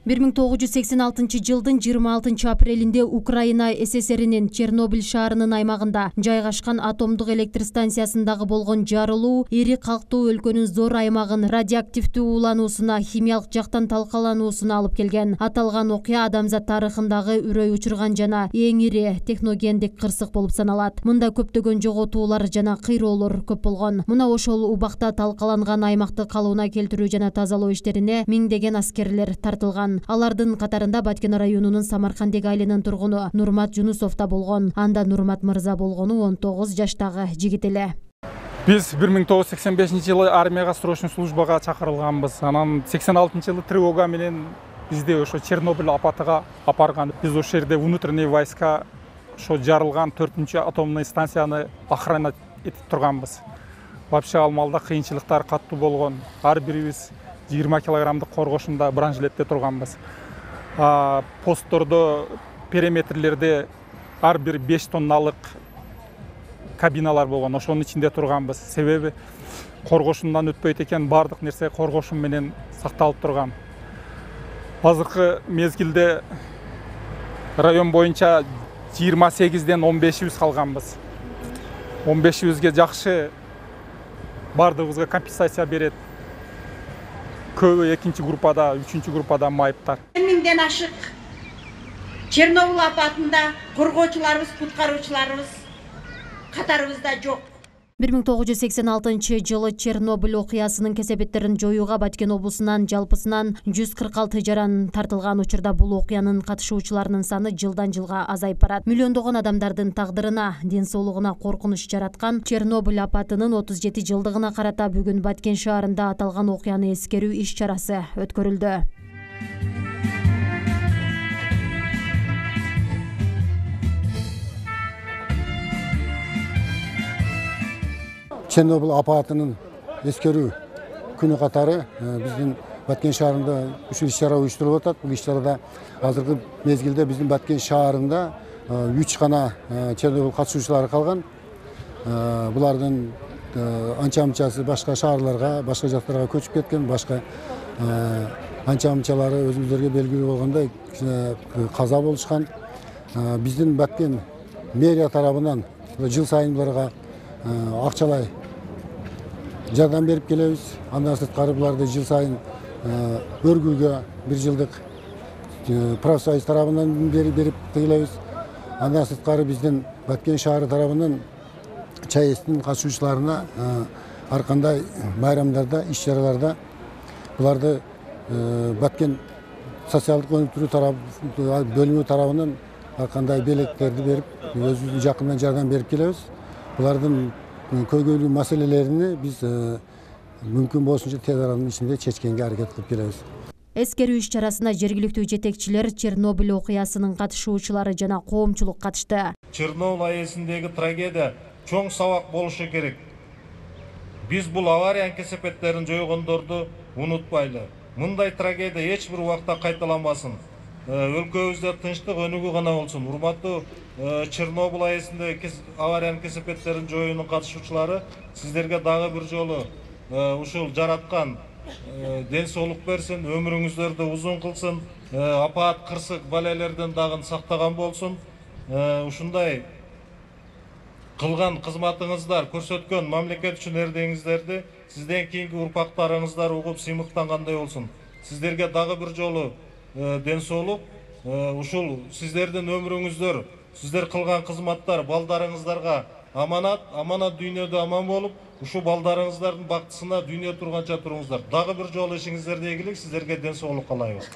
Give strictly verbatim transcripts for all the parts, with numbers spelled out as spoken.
бир миң тогуз жүз сексен алтынчы жылдын жыйырма алтынчы апрелинде Украина СССРинин Чернобыль шаарынын аймагында жайгашкан атомдук электр станциясындагы болгон жарылуу ири калктуу өлкөнүн зор аймагын радиоактивдүү уулануусуна, химиялык жактан талкалануусуна алып келген. Аталган окуя адамзат тарыхындагы үрөй учурган жана эң ири техногендик кырсык болуп саналат. Мында көптөгөн жоготуулар жана кыйроолор көп болгон. Мына ошол убакта талкаланган аймакты калыбына келтирүү жана тазалоо иштерине миңдеген аскерлер тартылган. Алардын катарында Баткен районунун Самаркандек айылынын тургуну Нурмат Жунусов да болгон. Анда Нурмат мырза болгону он тогуз жаштагы жигит эле. Биз бир миң тогуз жүз сексен бешинчи жылы армияга срочный службага чакырылганбыз. Анан сексен алтынчы жылы тревога менен бизди ошо Чернобыль апатыга апарган. Биз ошол жерде внутренний войска ошо жарылган төртүнчү атомный станцияны охрана этип турганбыз. Вообще ал малда кыйынчылыктар каттуу болгон. Ар бирибиз жыйырма килограммдык коргошунда бронжилетте турганбыз. Посттордо, периметрлерде ар бир беш тонналык кабиналар болгон. Ошонун ичинде турганбыз. Себеби коргошундан өтпөйт экен, бардык нерсе коргошун менен сакталып турган. Азыркы мезгилде район боюнча жыйырма сегизден он бешибиз калганбыз. он бешибизге жакшы бардыгыбызга компенсация берет. Көбү экинчи группада, үчүнчү группада майыптар. Миңден ашык Чернобыль апатында коргоочуларыбыз, куткаруучуларыбыз катарыбызда жок. бир миң тогуз жүз сексен алтынчы жылы Чернобыль окуясынын кесепеттерин жоюуга Баткен облусунан жалпысынан жүз кырк алты жаран тартылган учурда бул окуянын катышуучуларынын саны жылдан жылга азайып барат. Миллиондогон адамдардын тагдырына, ден соолугуна коркунуч жараткан Чернобыль апатынын отуз жети жылдыгына карата бүгүн Баткен шаарында аталган окуяны эскерүү иш чарасы өткөрүлдү. Чернобыль апатынын эскерүү күнү катары биздин Баткен шаарында ушул иш-чара уюштурулуп атат. Бул иш-чарада азыркы мезгилде биздин Баткен шаарында үч гана Чернобыль катышуучулары калган. Булардын анча-мынчасы башка шаарларга, башка жактарга көчүп кеткен, башка анча-мынчалары өзүңүздөргө белгилүү болгондой каза болушкан. Биздин Баткен мэрия тарабынан жыл сайын буларга акчалай жардам берип келебиз. Андан сырткары буларды жыл сайын өргүүгө бир жылдык профсоюз тарабынан берип келебиз. Андан сырткары биздин Баткен шаары тарабынан ЧАЭСтин катышуучуларына ар кандай байрамдарда, иш-чараларда буларды Баткен социалдык өнүктүрүү бөлүмү тарабынан ар кандай белектерди берип, өзүбүздүн жакындан жардам берип келебиз. Булардын көйгөйлүү маселелеrini биз мүмкүн болушунча тез аранын ичинде чечкенге аракет кылып келебиз. Эскерүү иш чарасына жергиликтүү жетекчилер, Чернобыль окуясынын катышуучулары жана коомчулук катышты. Чернобыль айылындагы трагедия чоң сабак болушу керек. Биз бул авария кесепеттерин жойгондорду унутпайлы. Мындай трагедия эч бир убакта кайталанбасын. Өлкөбүздө тынчтык өнүгүү гана болсун. Урматтуу Чернобыль айылындагы авариянын кесепеттерин жоюунун катышуучулары, сиздерге дагы бир жолу ушул жараткан ден соолук берсин, өмүрүңүздөрдү узун кылсын, апаат кырсык балелерден дагы сактаган болсун. Ушундай кылган кызматыңыздар, көрсөткөн мамлекет үчүн эрдеңиздерди сизден кийинки урпактарыңыздар угуп сыймыктангандай болсун. Сиздерге дагы бир жолу ден соолук, ушул сиздердин өмүрүңүздөр, сиздер кылган кызматтар балдарыңыздарга аманат, аманат дүйнөдө аман болуп, ушул балдарыңыздардын бактысына дүйнө турганча туруңуздар. Дагы бир жолу ишиңиздерде ийгилик, сиздерге ден соолук каалайбыз.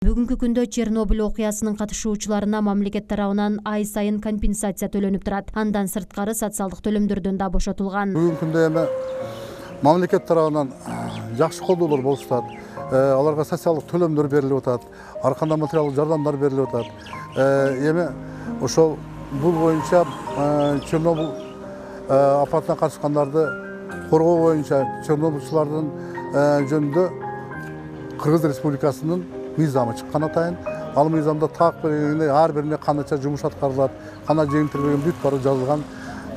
Бүгүнкү күндө Чернобыль окуясынын катышуучуларына мамлекет тарабынан ай сайын компенсация төлөнүп турат. Андан сырткары социалдык төлөмдөрдөн да бошотулган. Бүгүнкү күндө эми мамлекет тарабынан жакшы колдоолор болуп атат. Аларга социалдык төлөмдөр берилип атат, ар кандай материалдык жардамдар берилип атат. Эми ошол бул боюнча Чернобыль апатына катышкандарды коргоо боюнча чернобыльчылардын жөнүндө Кыргыз Республикасынын мыйзамы чыккан атайын. Ал мыйзамда так белгиленген ар бирине канча жумуш аткарылат, кандай жеңилдетилген бүт баары жазылган.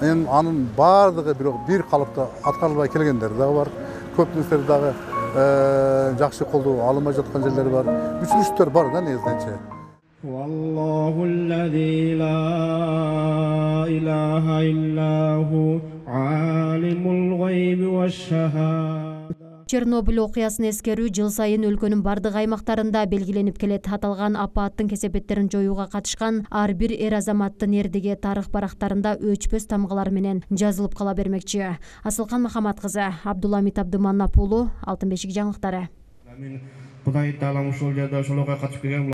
Эми анын баардыгы бирок бир калыпта аткарылбай келгендери дагы бар. Көп нерселер дагы жакшы колдоо алынбай жаткан жерлери бар. Үзүлүштөр бар да негизинче. والله الذي لا إله إلا هو عالم الغيب والشهادة. Чернобыль окуясын эскерүү жыл сайын өлкөнүн бардык аймактарында белгиленип келет. Аталган апаттын кесепеттерин жоюуга катышкан ар бир эр азаматтын эрдиги тарых барактарында өчпөс тамгалар менен жазылып кала бермекчи. Асылкан Махамат кызы, Абдуламит Абдыманап уулу, Алтын бешик жаңылыктары. Кудай таалам ушул жерде ошолорго катышып келген